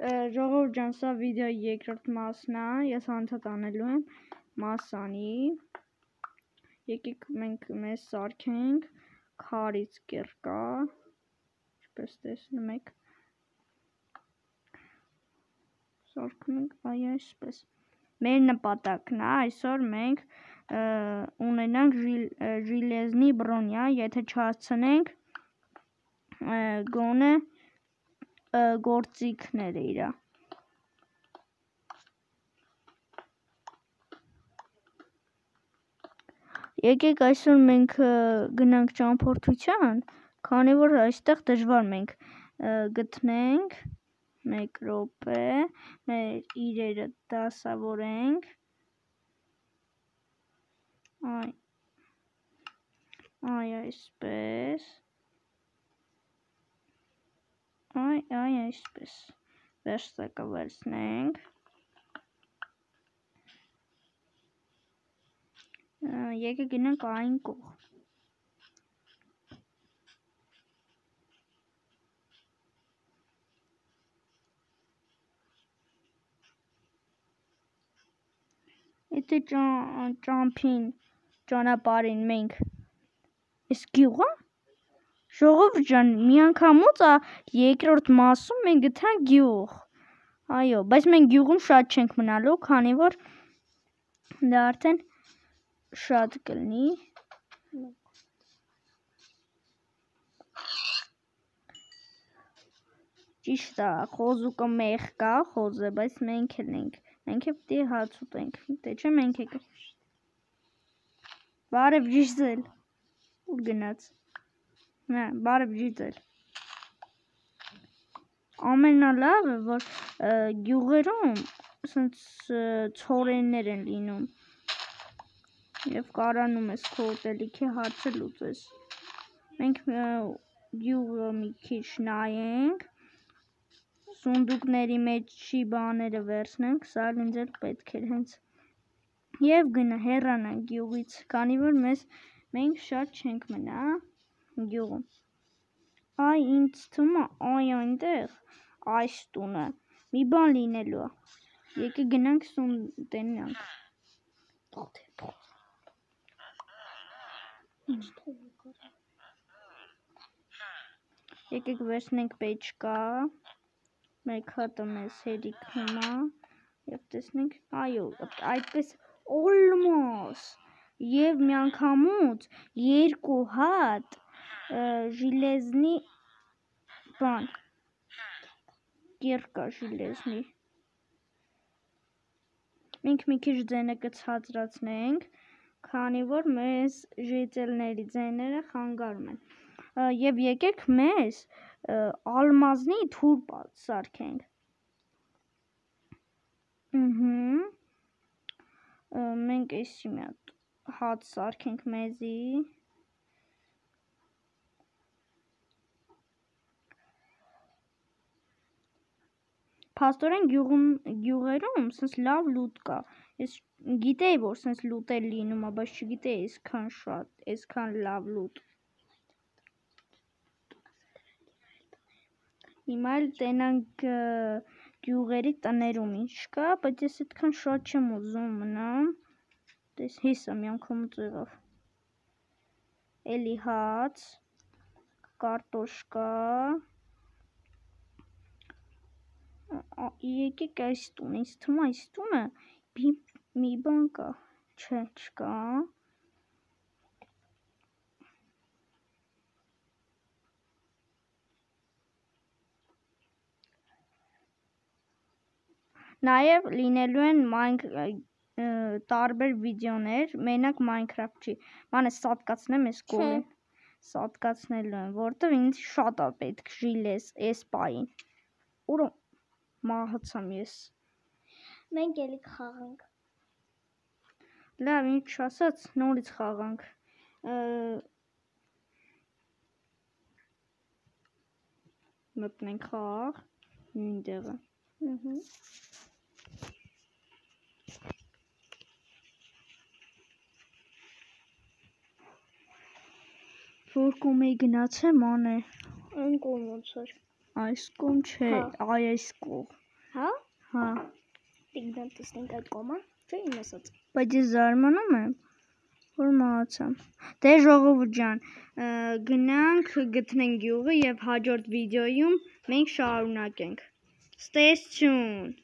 ժողովուրդ ջան, սա վիդեոյի երկրորդ մասն է, ես անդադ անելու եմ մասանի, եկեք մենք մեզ սարքենք, քարից կերկա, ինչպես տեսնում եք, սարքում ենք այսպես, մեր նպատակն է, այսօր մենք ունենանք ժիլեզնի բրոնյա, եթե չհասցնենք գոնե գործիքները իրա։ Եկեք այսօր մենք գնանք ճամփորդության, քանի որ այստեղ դժվար մենք գտնենք, 1 րոպե, մեր իրերը դասավորենք, այսպես, այսպես, վերստակը վերցնենք, եկեք գնանք այն կողմ, եթե ճանապարհին մենք այս գյուղը, ժողովուրդ ջան, միանգամից երկրորդ մասում մենք գտանք գյուղ, այո, բայց մենք գյուղում շատ չենք մնալու, քանի որ դա արդեն շատ կլինի, ճիշտ է, խոզուկը մեղ կա, խոզը, բայց մենք էլ ենք, մենք էլ պիտի հաց ուտենք, թե չէ մենք եք, բարև Ժիզել, ուր գնաց, բարև Ժիզել, ամենալավը, որ գյուղերում ցորեններ են լինում և կարանում ես քո ուտելիքի հարցը լուծես, մենք գյուղը մի քիչ նայենք, սունդուկների մեջի բաները վերցնենք, սա ինձ էլ պետք էր հենց, և հեռանանք գյուղից, քանի որ մենք շատ չենք մնա գյուղում, ինձ թվում է այնտեղ, այս տունը, մի բան լինելու է, եկեք գնանք տենանք, եկեք վերցնենք պեչկա, մեկ հատը մեզ հերիքում է, և տեսնենք, այո, այդպես օլմոս, և միանգամուց 2 հատ ժիլեզնի բան, կիրկա ժիլեզնի, մենք մի քիչ ձենը կցածրացնենք, քանի որ մեզ ժետելների ձեները խանգարում են, և եկեք մեզ ալմազնի թուր սարքենք, մենք էսի մի հատ հաց սարքենք մեզի, փաստորեն գյուղերում սենց լավ լուտ կա, ես գիտեի, որ սենց լուտեր լինում է, բայց չգիտեի այսքան շատ, այսքան լավ լուտ, հիմա էլ տենանք գյուղերի տներում ինչ կա, բայց ես այդքան շատ չեմ ուզում մնամ, հեսա միանգամից եղավ, էլի հաց, կարտոշկա, եկեք այս տուն, ինձ թվում է այս տունը մի բան կա, չէ, չկա, նաև լինելու են տարբեր վիդեոներ, մենակ Minecraft չի, մանես սատկացնեմ ես կողին, սատկացնելու եմ, որտև ինձ շատ է պետք ժիլեզ ես պային, ուր մահացամ ես, մենք էլի կխաղանք, լավ, ինչ ասաց, նորից խաղանք, մտնենք խաղ, նույն տեղը, որ կոմ էի գնացեմ, ան է, այն կողմոց էր, այս կողմ չէ, այս կողմ, Հա, Տիգնան տեսնենք այդ կոման, չէ իմ ասած։ բայց ես զարմանում եմ, որ մահացամ։ Դե ժողովուրդ ջան, գնանք գտնենք գյուղը եւ հաջորդ վիդեոյում մենք շարունակենք։ Stay tuned.